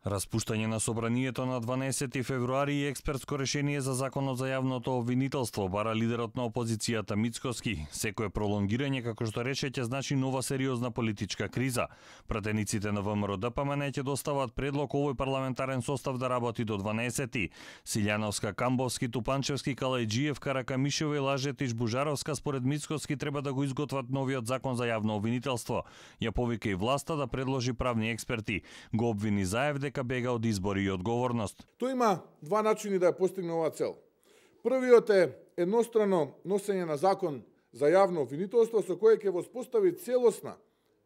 Распуштање на собранието на 12 февруари и експертско решение за законот за јавното обвинителство бара лидерот на опозицијата Мицкоски. Секое пролонгирање, како што рече, ќе значи нова сериозна политичка криза. Пратениците на ВМРО-ДПМН ќе достават предлог овој парламентарен состав да работи до 12. Силјановска, Камбовски, Тупанчевски, Калајджиев, Каракамишева и Лажетиш, Бужаровска според Мицкоски треба да го изготват новиот закон за јавно обвинителство. Ја повика и власта да предложи правни експерти. Го обвини Заев дека бега од избори и одговорност. Тој има два начини да ја постигне оваа цел. Првиот е еднострано носење на закон за јавно обвинителство со кое ќе воспостави целосна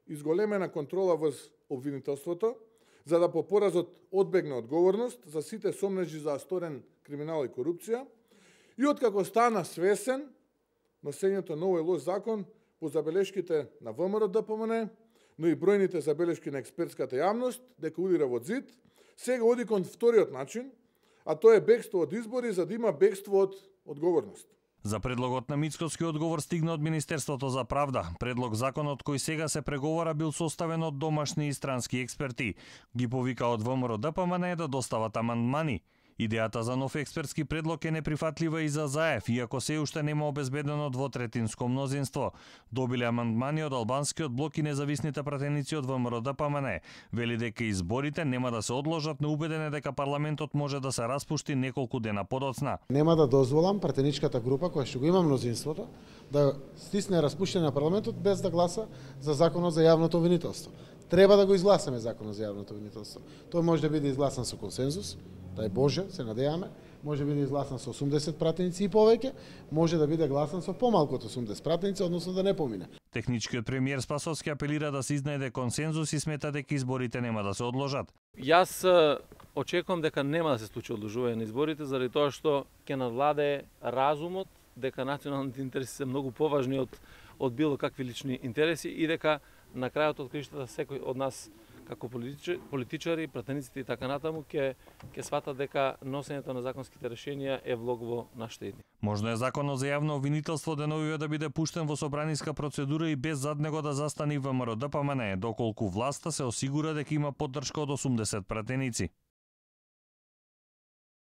изголемена контрола врз обвинителството, за да по поразот одбегне одговорност за сите сомнежи за сторен криминал и корупција, и откако стана свесен носењето на овој лош закон по забелешките на ВМРО-ДПМН, но и бројните забелешки на експертската јавност дека удира во зид, сега оди кон вториот начин, а тоа е бегство од избори за да има бегство од одговорност. За предлогот на Мицкоски одговор стигна од Министерството за правда. Предлог законот кој сега се преговара бил составен од домашни и странски експерти. Ги повика од ВМРО-ДПМН да достават амандмани. Идејата за нов експертски предлог е неприфатлива и за Заев, иако се уште нема обезбедено двотретинско мнозинство. Добиле амандмани од албанскиот блок и независните пратеници од ВМРО-ДПМН. Вели дека изборите нема да се одложат, но убеден е дека парламентот може да се распушти неколку дена подоцна. Нема да дозволам пратеничката група која што го има мнозинството да стисне распуштање на парламентот без да гласа за законот за јавното обвинителство. Треба да го изгласаме законот за јавното обвинителство. Тој може да биде изгласан со консензус, дај Боже, се надејаме, може да биде изгласан со 80 пратеници и повеќе, може да биде гласан со помалку од 80 пратеници, односно да не помине. Техничкиот премиер Спасовски апелира да се изнајде консензус и смета дека изборите нема да се одложат. Јас очекувам дека нема да се случи одложување на изборите заради тоа што ќе надвладее разумот дека националните интереси се многу поважни од било какви лични интереси и дека на крајот од краиштата секој од нас како политичари, пратениците и така натаму ќе сватат дека носењето на законските решенија е влог во нашите идни. Можно е законот за јавно обвинителство деновиве да биде пуштен во собраниска процедура и без зад него да застани ВМРО-ДПМН, доколку власта се осигура дека има поддршка од 80 пратеници.